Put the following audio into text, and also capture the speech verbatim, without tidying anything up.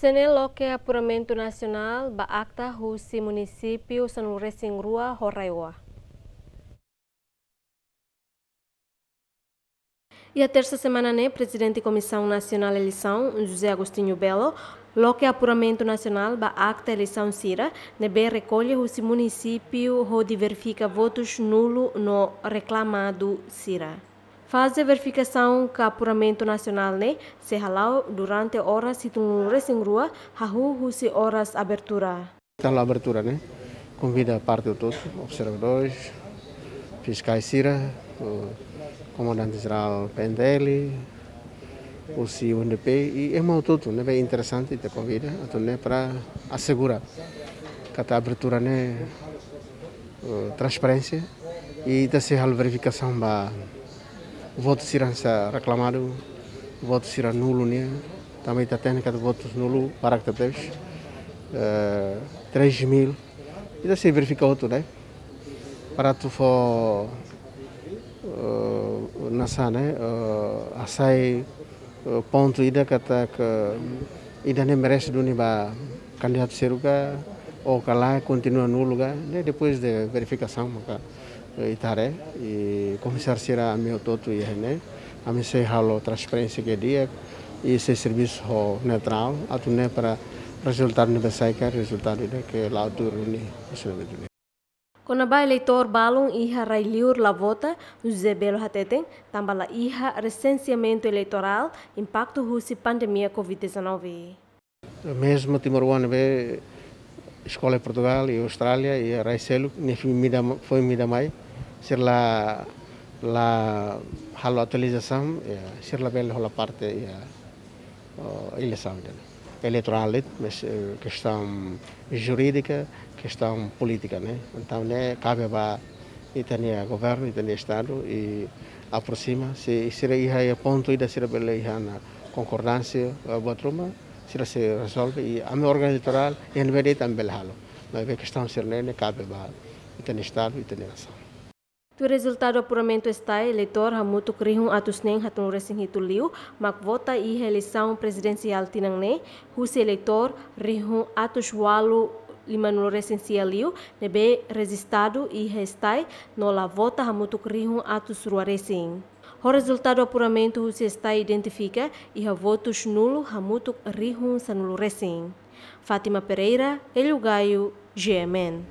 Ida-ne'e loke apuramentu nasionál ba akta husi munisípiu sanulu-resin-rua ho RAEOA. Iha tersa semana ne'e, Prezidente Komisaun Nasionál Eleisaun, José Agostinho Belo, loke apuramentu nasionál ba akta eleisaun sira ne'ebé rekolla husi munisípiu hodi verifika votus nulu no reklamadu sira. Faze verifikasaun ka apuramentu nasionál ne'e sei hala'o durante oras hitunulu-resin-rua hahú husi oras abertura. Ita halo abertura ne'e, konvida parte hotu-hotu, observadores, fiskais sira, o komandante jerál P N T L, husi U N D P, i ema hotu-hotu ne'ebé interesante ita konvida, atu nune'e para asegura katak abertura ne'e, eh, transparénsia, i ita sei halo verifikasaun ba votu sira hanesan reklamadu, votu sira nulu nian, tanba ita hatene katak votus nulu barak tebes, eh, três mil. Ita sei verifika hotu, ne'e? Para atu fó, eh, nasa, ne'e? Eh, hasai, eh, pontu ida katak ida-ne'e merese duni ba kandidatu seluk ka, ou ka lae, kontinua nulu ka, ne'e? Depois de verifikasaun maka, eh, ita haree, i komisáriu sira ami hotu-hotu iha ne'e, ami sei halo transparénsia ke di'ak, i sei servisu ho neutrál, atu nune'e para rezultadu ne'ebé sai ka rezultadu ida ke la'o tuir duni. Kona-ba eleitór balun iha rai-liur la vota, José Belo hateten, tanba la iha resenseamentu eleitorál, impaktu husi pandemia covid dezanove. Mezmu timoroan ne'ebé eskola Portugál i Austrália i rai seluk, nia foin mida, foin mida mai, sira la, la halo atualizasaun, ya, sira labele hola parte, ya, oh, eleisaun ida-ne'e. Eleitorál, mas, eh, kestaun jurídika, kestaun polítika, ne'e? Entaun, ne'e kabe ba ita-nia governu, ita-nia estadu, i aproxima, se sira iha, iha pontu ida sira bele iha ona konkordánsia, eh, buat ruma, sira sei rezolve, i ami órgaun eleitorál, iha ne'ebé de'it ami bele halo. Maibé kestaun sira-ne'e, ne'e kabe ba ita-nia estadu, ita-nia nasaun. Tuir rezultadu apuramentu STAE, eleitór hamutuk rihun atus neen haatnulu-resin-hitu liu mak vota iha eleisaun prezidensiál tinan ne'e, husi eleitór rihun atus ualu limanulu-resin-sia liu ne'ebé rejistadu iha STAE no la vota hamutuk rihun atus rua-resin. Ho rezultadu apuramentu husi STAE identifika iha votus nulu hamutuk rihun sanulu-resin. Fátima Pereira, Hélio Gaio, G M N.